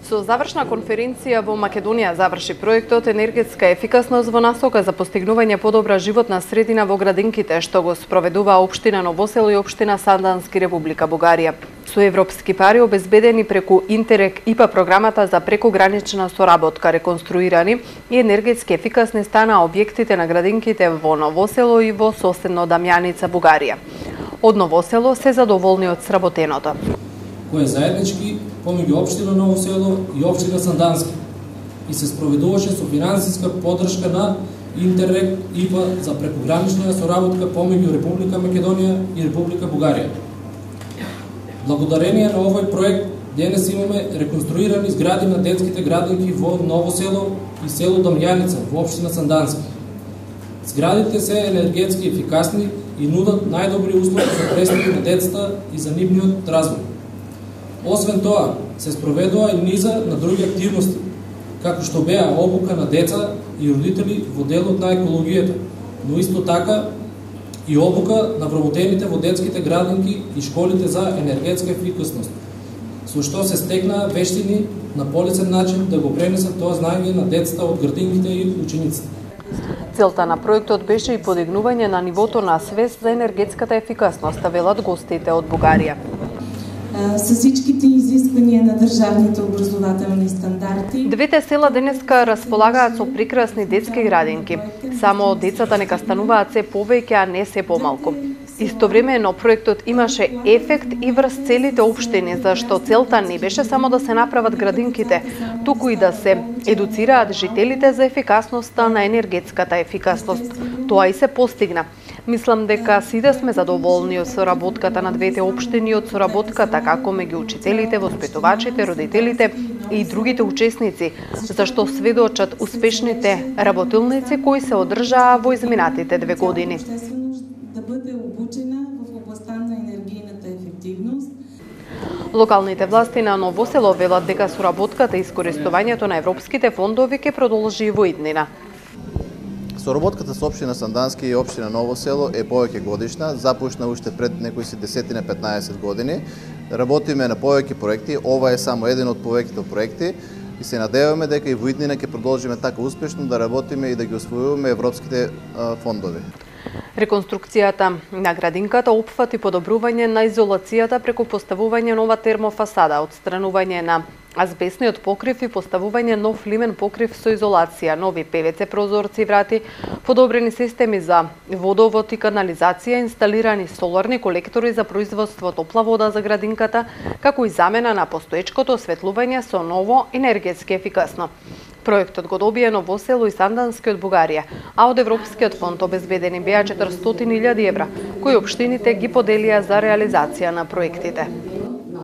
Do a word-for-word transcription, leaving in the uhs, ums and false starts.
Со завршна конференција во Македонија заврши проектот Енергетска ефикасност во насока за постигнување подобра животна средина во градинките, што го спроведува општина Ново село и општина Сандански, Република Бугарија. Со европски пари обезбедени преку Интерек ИПА програмата за прекогранична соработка, реконструирани и енергетски ефикасни стана објектите на градинките во Ново село и во соседно Дамјаница, Бугарија. Од Ново село се задоволни од сработеното. Кој е заеднички помеѓу општина Ново село и општина Сандански и се спроведуваше со финансиска поддршка на Интерек ИПА за прекогранична соработка помеѓу Република Македонија и Република Бугарија. Благодарение на овој проект денес имаме реконструирани згради на детските градинки во Ново село и село Дамјаница во општина Сандански. Зградите се енергетски ефикасни и нудат најдобри услови за престани на децата и за нивниот развој. Освен тоа, се спроведува и низа на други активности, како што беа обука на деца и родители во делот на екологијата, но исто така и обука на вработените во детските градинки и школите за енергетска ефикасност, со што се стекнаа вештини на полесен начин да го пренесат тоа знаење на децата од градинките и учениците. Целта на проектот беше и подигнување на нивото на свест за енергетската ефикасност, велат гостите од Бугарија. Со сите изисквања на државните образователни стандарти. Двете села денеска располагаат со прекрасни детски градинки. Само децата нека стануваат се повеќе, а не се помалку. Истовремено проектот имаше ефект и врз целите општини, зашто целта не беше само да се направат градинките, туку и да се едуцираат жителите за ефикасноста на енергетската ефикасност. Тоа и се постигна. Мислам дека сите сме задоволни од соработката на двете општини, од соработката како меѓу учителите, воспитувачите, родителите и другите учесници, зашто сведочат успешните работилници кои се одржаа во изминатите две години. Да биде обучена во областта на енергијната ефективност. Локалните власти на Ново село велат дека соработката и искористувањето на европските фондови ќе продолжи во иднина. Соработката со општина Сандански и општина Ново село е повеќе годишна, започна уште пред некои си десетина-петнаесет години. Работиме на повеќе проекти, ова е само еден од повеќето проекти и се надеваме дека и во иднина ќе продолжиме така успешно да работиме и да ги освојуваме европските фондови. Реконструкцијата на градинката опфати подобрување на изолацијата преку поставување нова термофасада, отстранување на азбестниот покрив и поставување нов лимен покрив со изолација, нови пе ве це прозорци и врати, подобрени системи за водовод и канализација, инсталирани соларни колектори за производство топла вода за градинката, како и замена на постоечкото осветлување со ново енергетски ефикасно. Проектот го добија Ново село и Сандански од Бугарија, а од Европскиот фонд обезбедени беа четиристотини илјади евра, кои општините ги поделија за реализација на проектите.